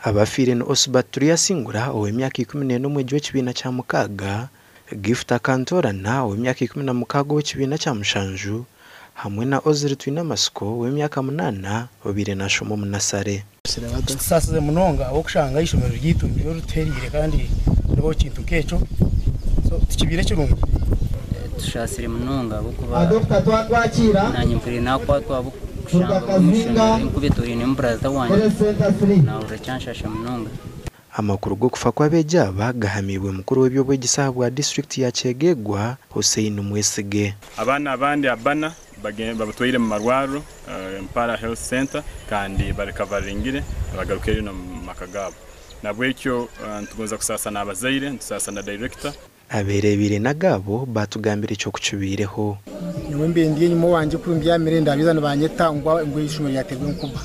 Abafiire ni Osbert Turyasingura ow'emyaka 14 omwegi w'ekibiina kya mukaaga, Gift Akantoorana ow'emyaka 16 ow'ekibiina kya mushanju hamwe na Ozili Twinamatsiko ow'emyaka munaana obaire nashoma omu nasare. Kitusaasize munonga ahabw'okushanga eishomero ryaitu niryo rituhereire kandi ribaho ekintu nk'ekyo so tikibaire kirungi. Tushaasire munonga ahabw'okuba naanye mpuriire naakwatwa ahabw'okushanga omu ishomero enkuba etoorainemu buraza wangye naahurira kyanshasha munonga. Amakuru g'okufa kw'abeegi aba gahamiibwe mukuru w'eby'obwegyese ahabwa disiturikiti ya Kyegegwa, Hussein Mwesige. Abaana abandi abbana babatwaire omu marwariro, Mpara Health Centre, kandi barikavaringire bagarukireyo n'omu maka gaabo. Nabwekyo nitugonza kusaasa n'abazaire, nitusaasa na dayirekita. Abeereebeire n'agaabo baatugambira ekyo ku kibaireho. Nyowe mbaire ndi enyima owangye ku mbyamire ndabiiza nibanyeta ngu eishomero ryateerwa enkuba.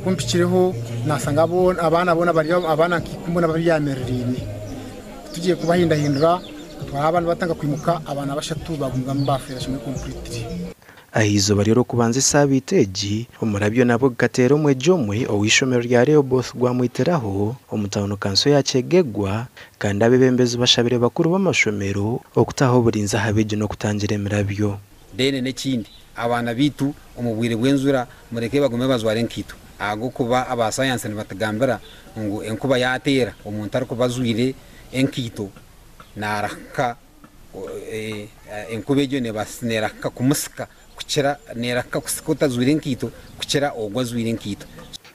Ku mpikireho naashanga abaana boona bari abaana nka ikumi boona babyamiriraine. Ku tugiye kubahindahindura twahurira abaana nibatandika kwimuka abaana bashatu baagumizamu baafeera kimwe completely. Aha izooba ry'Orwokubanza esaabiiti egi, omurabyo nabwo gukateera omwegi omwe ow'eishomero rya Rehoboth gwamwitiraho omu tauni kanso ya Kyegegwa kandi abeebembezi bashabire bakuru b'amashomero okutaho oburinzi aha beegi n'okutangira emirabyo. Then n'ekindi abaana baitu omu bwire bw'enjura mureke bagume bajware enkaito ahabw'okuba aba sayansi nibatugambira ngu enkuba yateera omuntu arikuba ajwaire enkaito narahuka Enkuba egyo neerahika kumusika kukira neerahika kusika otajwaire enkaito kukira ogwo ajwaire enkaito.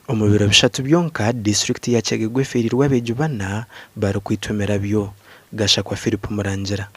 Omu biro bishatu byonka, disiturikiti ya Kyegegwa efeereirwe abeegi bana barikwitwa emirabyo. Gashakwa Phillip Murangira.